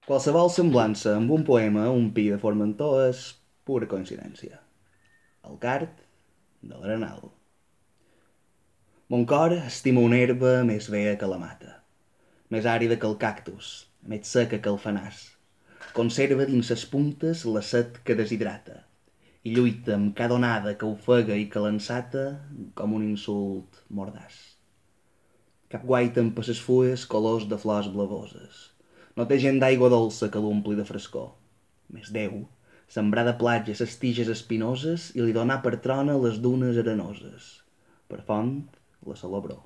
Qualsevol semblança amb un poema o un pi de Formentor és pura coincidència. El card de l'Arenal. Mon cor estima una herba més vea que la mata, més àrida que el cactus, més seca que el fenàs. Conserva dins ses puntes la set que deshidrata i lluita amb cada onada que ofega i que l'ensata com un insult mordaç. Cap guaita amb ses fulles colors de flors blavoses. No té gent d'aigua dolça que l'ompli de frescor. Més Déu, sembrar de platja ses tiges espinoses i li donar per trona les dunes arenoses. Per font, la salabror.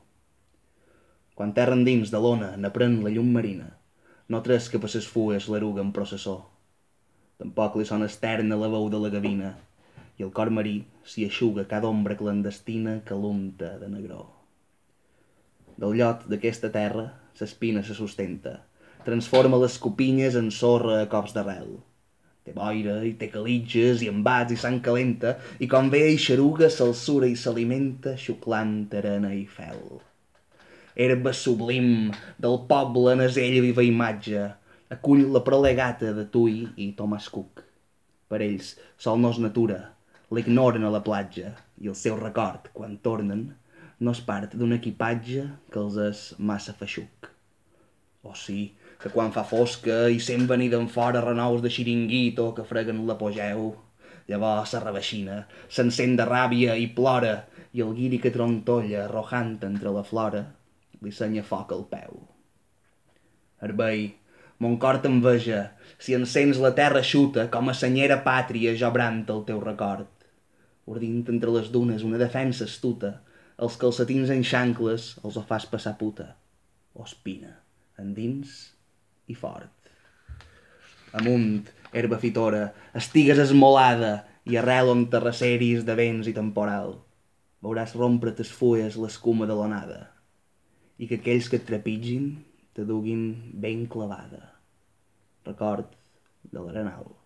Quan terra endins de l'ona n'aprèn la llum marina, no tresca per ses fulles l'eruga en processó. Tampoc li sona externa la veu de la gavina i el cor marí s'hi eixuga cada ombra clandestina que l'unta de negró. Del llot d'aquesta terra s'espina se sustenta, transforma les copinyes en sorra a cops d'arrel. Té boira i té calitges i embats i sang calenta i com ve i xeruga s'alçura i s'alimenta xuclant arena i fel. Herba sublim del poble en ella viva imatge, acull la prole gata de Tui i Thomas Cook. Per ells, sol no és natura, l'ignoren a la platja i el seu record, quan tornen, no és part d'un equipatge que els és massa feixuc. O sí, que quan fa fosca i sent venir d'en fora renous de xiringuito que freguen l'apogeu, llavors se reveixina, s'encén de ràbia i plora, i el guiri que trontolla, arrojant entre la flora, li senya foc al peu. Herbei, mon cor t'enveja, si encens la terra xuta, com a senyera pàtria jo brant el teu record. Ordint entre les dunes una defensa astuta, els calcetins en xancles els ho fas passar puta. O espina, endins i fort. Amunt, herba fitora, estigues esmolada i arrel on terraceris de vents i temporal. Veuràs rompre tes fulles l'escuma de l'onada i que aquells que et trepitgin te duguin ben clavada. Record de l'Arenal.